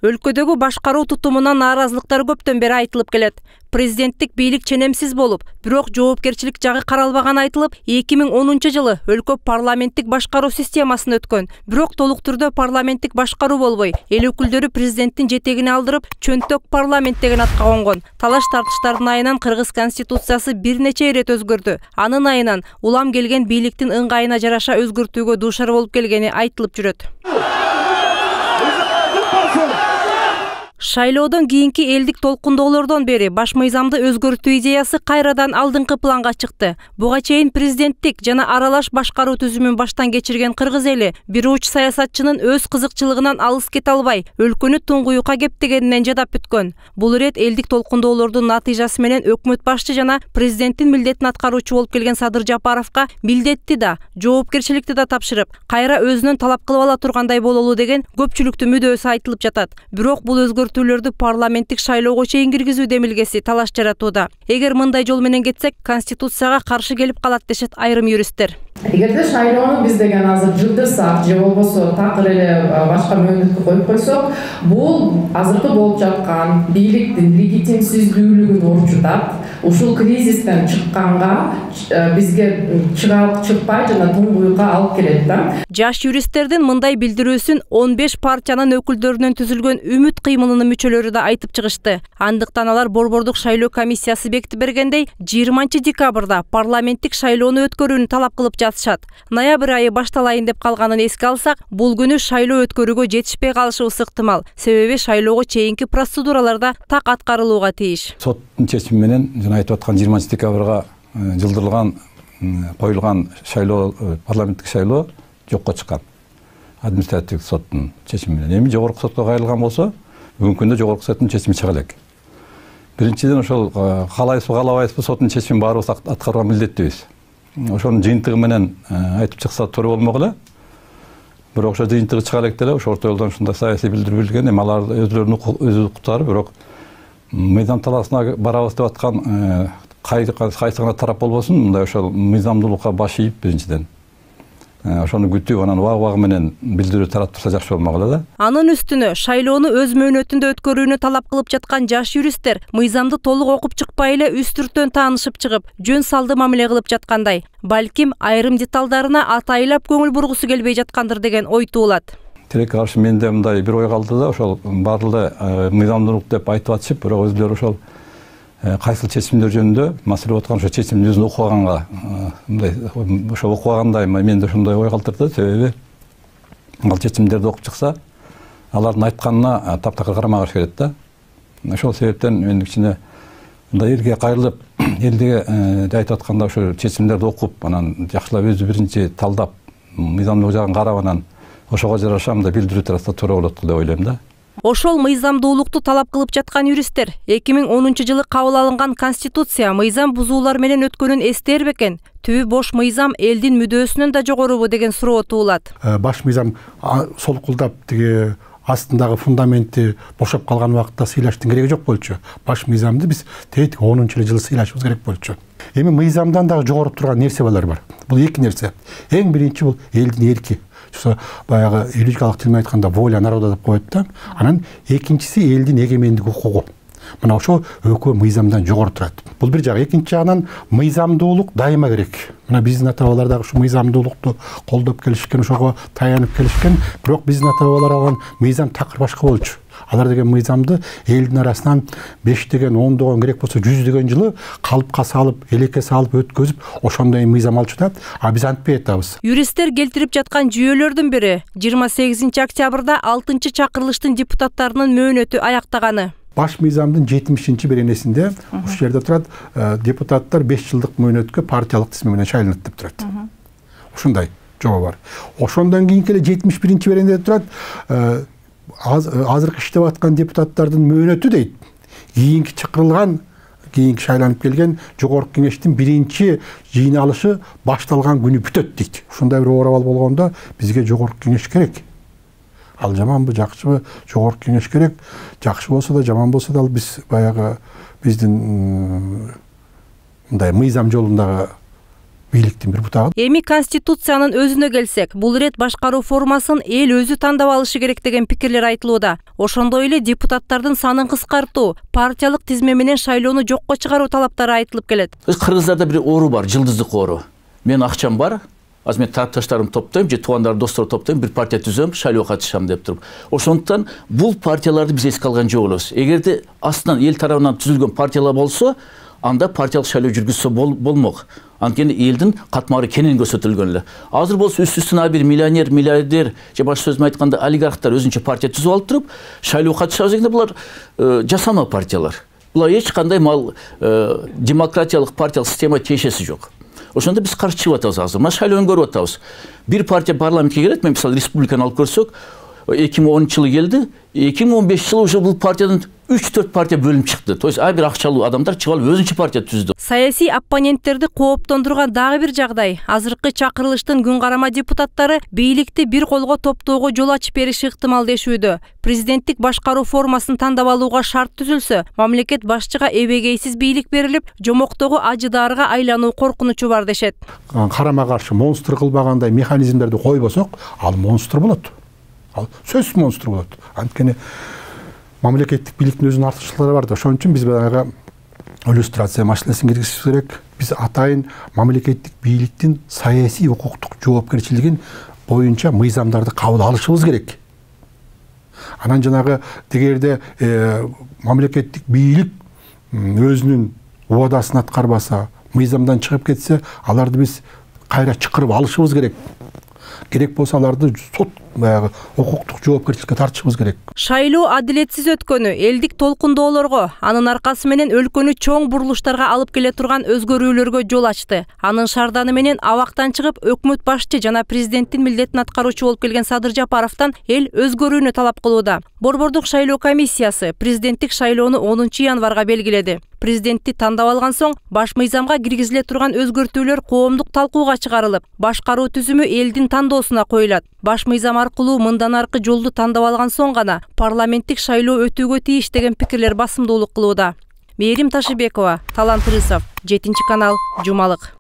Өлкөдөгү башкаруу тутумунан нааразылыктар көптөн бери айтылып келет. Президенттик бийлик ченемсиз болуп, бирок жоопкерчилик жагы каралбаганы айтылып, 2010-жылы өлкө парламенттик башкаруу системасына өткөн. Бирок толук түрдө парламенттик башкаруу болбой, эл өкүлдөрү президенттин жетегине алдырып, чөнтөк парламент деген атка конгон. Талаш тартыштардын айынан Кыргыз конституциясы бир нече ирет өзгөрдү. Анын айынан улам келген бийликтин ыңгайына жараша өзгөртүүгө дуушар болуп келгени айтылып жүрөт. Шайлоодон кийинки элдик толкундоолордон бери баш мыйзамды өзгөртүү идеясы кайрадан алдыңкы планга чыкты. Буга чейин президенттик жана аралаш башкаруу түзүмүн баштан кечирген кыргыз эли бир уч саясатчынын өз кызыкчылыгынан алыс кете албай, өлкөнү туңгуюкка кептегенинен жадап бүткөн. Бул ирет элдик толкундоолордун натыйжасы менен өкмөт башчы жана президенттин милдетин аткаруучу болуп келген Садыр Жапаровго милдетти да, жоопкерчиликти да тапшырып, кайра өзүнөн талап кылып ала тургандай бололу деген көпчүлүктүн мүдөөсү айтылып жатат. Бирок бул өзгөртүүлөрдү парламенттик шайлоого чейин киргизүү демилгеси талаш жаратууда. Эгер мындай жол менен кетсек, конституцияга каршы келип калат дешет айрым юристтер. Эгерде шайлоону биз деген азыр жылдырсак же болбосо такыр эле башка мөөнөткө коюп койсок, бул азыркы болуп жаткан бийликтин легитимсиздүүлүгүн урчутат. Ушул кризистен чыкканга бизге чыкпай жана туңгуюкка алып келет да. Жаш юристтердин мындай билдирүүсүн 15 партиянын өкүлдөрүнөн түзүлгөн Үмүт кыймылынын мүчөлөрү да айтып чыгышты. Андыктан алар Борбордук шайлоо комиссиясы бекитип бергендей 20 декабрда парламенттик шайлоону өткөрүүнү талап кылып жатышат. Ноябрь айы башталайын деп калганын эске алсак, бул күнү шайлоо өткөрүүгө жетишпей калышыбыз ыктымал. Себеби шайлоого чейинки процедураларда так аткарылууга тийиш. Соттун чечими менен жана айтып аткан 20 декабрга жылдырылган коюлган шайлоо, парламенттик шайлоо жокко чыккан. Административдик соттун чечими менен. Эми жогорку сотко кайрылган болсо, бүгүнкү күндө жогорку соттун чечими чыга элек. Биринчиден ошол каалайбызбы, каалабайбызбы соттун чечимин баарыбыз аткарууга милдеттүүбүз. Ошонун жыйынтыгы менен айтып чыкса туура болмок эле. Бирок ошо жыйынтыгы чыга элек деле, ошо орто жолдон ушундай саясий билдирүү билген, эми алар өзүлөрүнүн өз укуктары, бирок мыйзам талаасына барабыз деп аткан кайсы гана тарап болбосун, мындай ошол мыйзамдуулукка баш ийип биринчиден ошону күтүп, анан убагы менен билдирүү тарап турса жакшы болмок эле да. Анын үстүнө шайлоону өз мөөнөтүндө өткөрүүнү талап кылып жаткан жаш юристтер мыйзамды толук окуп чыкпай эле үстүртөн таанышып чыгып, жөн салды мамиле кылып жаткандай. Балким айрым деталдарына атайлап көңүл бургусу келбей жаткандыр деген ой туулат. Тилекке каршы менде мындай бир ой калды да, ошол баары мыйзамдуулук деп айтып атышып, бирок өзүлөрү ошол кайсыл чечимдер жөнүндө маселе болуп аткан ошо чечимдин өзүн окубаганга, мындай ошо окубагандай менде ошондой ой калтырды. Себеби ал чечимдерди окуп чыкса, алардын айтканына таптакыр карамагыш келет да. Ошол себептен мен кичине мындай элге кайрылып, элге айтып атканда ошо чечимдерди окуп, анан жакшылап өзү биринчи талдап, мыйзамдуулук жагын карап, анан ошого жараша мындай билдирүү тараса туура болот деп ойлойм да. Ошол мыйзамдуулукту талап кылып жаткан юристтер 2010-жылы кабыл алынган конституция мыйзам бузуулар менен өткөнүн эстер бекен? Түбү бош мыйзам элдин мүдөөсүнөн да жогорубу деген суроо туулат. Баш мыйзам солкулдап тиги астындагы фундаменти бошоп калган убакытта сыйлаштын кереги жок болчу. Баш мыйзамды биз 10-жылы сыйлашыбыз керек болчу. Эми мыйзамдан дагы жогору турган нерселер бар. Бул эки нерсе. Эң биринчи бул элдин эрки. Баягы юридикалык тил менен айтканда воля народа деп коет да. Анан экинчиси элдин эгемендик укугу. Мына ошо экөө мыйзамдан жогору турат. Бул бир жагы. Экинчи жагынан мыйзамдуулук дайыма керек. Мына биздин ата-бабалар дагы ушу мыйзамдуулукту колдоп келишкен, ошого таянып келишкен. Бирок биздин ата-бабалар алган мыйзам такыр башка болчу. Алар деген мыйзамды элдин арасынан 5 деген 10 деген керек болсо 100 деген жылы калыпка салып, элекке салып өткөзүп, ошондой мыйзам алчу да. А биз антпай атабыз. Юристтер келтирип жаткан жүйөлөрдүн бири 28 октябрда 6-чакырылыштын депутаттарынын мөөнөтү аяктаганы. Баш мыйзамдын 70-беренесинде ушул жерде турат, депутаттар 5 жылдык мөөнөткө партиялык тизме менен шайланат деп турат. Ушундай жобо бар. Ошондон кийинки эле 71-беренеде турат, азыркы иштеп аткан депутаттардын мөөнөтү дейт. Кийинки чакырылган, кийинки шайланып келген жогорку кеңештин биринчи жыйналышы башталган күнү бүтөт дейт. Ушундай бир оор абал болгондо бизге жогорку кеңеш керек. Ал жаманбы, жакшыбы, жогорку кеңеш керек. Жакшы болсо да, жаман болсо да, биз баягы биздин мындай мыйзам жолундагы бийликтин бир бутагы. Эми Конституциянын өзүнө келсек, бул ирет башкаруу формасын эл өзү тандап алышы керек деген пикирлер айтылууда. Ошондой эле депутаттардын санын кыскартуу, партиялык тизме менен шайлоону жокко чыгаруу талаптары айтылып келет. Кыргыздарда бир оору бар, жылдыздык оору. Менин акчам бар, азыр мен тапташтарымды топтойм, же туугандар, достор топтойм, бир партия түзөм, шайлоого катышам деп туруп. Ошондуктан бул партияларды биз эске алган жок элебиз. Эгерде астынан эл тарабынан түзүлгөн партиялар болсо, анда партиялык шайлоо жүргүзсө болмок. Анткени элдин катмары кенен көрсөтүлгөн эле. Азыр болсо үстүнө бир миллионер, миллиардер же башка сөз менен айтканда олигархтар өзүнчө партия түзүп алып туруп, шайлоого катышабыз дегенде булар жасама партиялар. Булар эч кандай демократиялык партиялык система тиешеси жок. Ошондо биз каршы чыгып атабыз азыр. Мына шайлоону көрүп атабыз. Бир партия парламентке келет, мен мисалы республиканы алып көрсөк, 2010-жылы келди, 2015-жылы уже бул партиядан 3-4 партия бөлүнүп чыкты. То есть бир акчалуу адамдар чыгып алып өзүнчө партия түздү. Саясий оппоненттерди кооптондурган дагы бир жагдай. Азыркы чакырылыштын күн карама депутаттары бийликти бир колго топтоого жол ачып бериши ыктымал дешүүдө. Президенттик башкаруу формасын тандап алууга шарт түзүлсө, мамлекет башчыга эбегейсиз бийлик берилип, жомоктогу ажыдаарга айлануу коркунучу бар дешет. Карама каршы монстр кылбагандай механизмдерди койбосок, ал монстр болот. Ал сөзсүз монстр болот. Анткени мамлекеттик бийликтин өзүнүн артыкчылыктары бар да. Ошон үчүн биз баягы иллюстрация маселесин киргизишибиз керек. Биз атайын мамлекеттик бийликтин саясий укуктук жоопкерчилигин боюнча мыйзамдарды кабыл алышыбыз керек. Анан жанагы тегерде мамлекеттик бийлик өзүнүн убадасын аткарбаса, мыйзамдан чыгып кетсе, аларды биз кайра чакырып алышыбыз керек. Керек болсо аларды сот укуктук жоопкерчиликке тартышыбыз керек. Шайлоо адилетсиз өткөнү элдик толкундоолорго, анын аркасы менен өлкөнү чоң бурулуштарга алып келе турган өзгөрүүлөргө жол ачты. Анын шарданы менен абактан чыгып, өкмөт башчы жана президенттин милдетин аткаруучу болуп келген Садыр Жапаровдон эл өзгөрүүнү талап кылууда. Борбордук шайлоо комиссиясы президенттик шайлоону 10-январга белгиледи. Президентти тандап алган соң баш мыйзамга киргизиле турган өзгөртүүлөр коомдук талкууга чыгарылып, башкаруу түзүмү элдин тандоосуна коюлат. Баш мыйзам аркылуу мындан аркы жолду тандап алган соң гана парламенттик шайлоо өтүүгө тийиш деген пикирлер басымдуулук кылууда. Мээрим Ташыбекова, Талант Рысов, 7 канал, Жумалык.